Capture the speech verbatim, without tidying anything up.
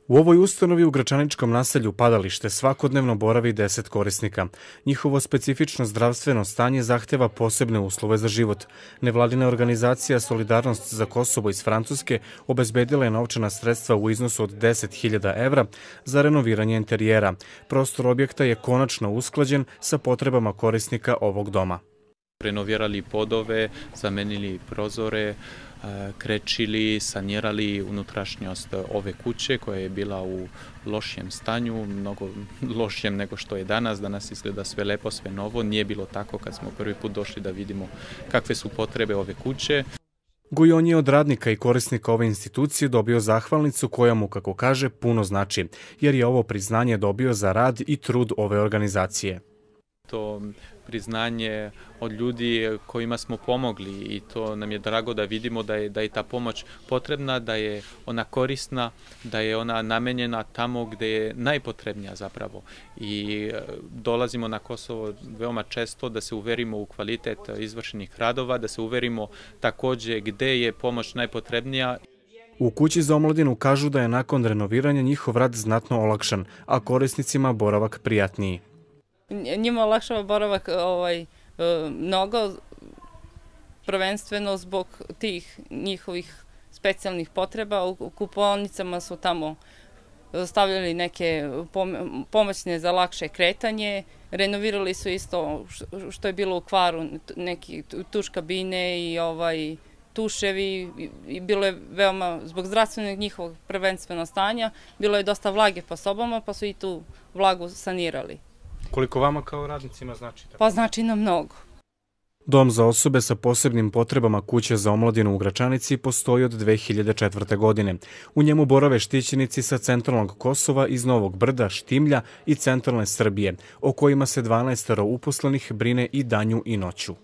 U ovoj ustanovi u Gračaničkom naselju Padalište svakodnevno boravi deset korisnika. Njihovo specifično zdravstveno stanje zahteva posebne uslove za život. Nevladina organizacija Solidarnost za Kosovo iz Francuske obezbedila je novčana sredstva u iznosu od deset hiljada evra za renoviranje interijera. Prostor objekta je konačno usklađen sa potrebama korisnika ovog doma. Renovirali podove, zamenili prozore, krečili, sanirali unutrašnjost ove kuće koja je bila u lošijem stanju, mnogo lošijem nego što je danas. Danas izgleda sve lepo, sve novo. Nije bilo tako kad smo prvi put došli da vidimo kakve su potrebe ove kuće. Gujon je od radnika i korisnika ove institucije dobio zahvalnicu koja mu, kako kaže, puno znači, jer je ovo priznanje dobio za rad i trud ove organizacije. To priznanje od ljudi kojima smo pomogli i to nam je drago da vidimo da je, da je ta pomoć potrebna, da je ona korisna, da je ona namenjena tamo gdje je najpotrebnija zapravo. I dolazimo na Kosovo veoma često da se uverimo u kvalitet izvršenih radova, da se uverimo također gdje je pomoć najpotrebnija. U kući za omladinu kažu da je nakon renoviranja njihov rad znatno olakšan, a korisnicima boravak prijatniji. Njima olakšava boravak ovaj, mnogo, prvenstveno zbog tih njihovih specijalnih potreba. U kupaonicama su tamo stavljali neke pomoćne za lakše kretanje. Renovirali su isto što je bilo u kvaru, neki tuš kabine i ovaj, tuševi. I bilo je veoma, zbog zdravstvenog njihovog prvenstveno stanja, bilo je dosta vlage po sobama, pa su i tu vlagu sanirali. Koliko vama kao radnicima znači? Pa znači nam mnogo. Dom za osobe sa posebnim potrebama Kuće za omladinu u Gračanici postoji od dve hiljade četvrte. godine. U njemu borave štićenici sa centralnog Kosova, iz Novog Brda, Štimlja i centralne Srbije, o kojima se dvanaestoro uposlenih brine i danju i noću.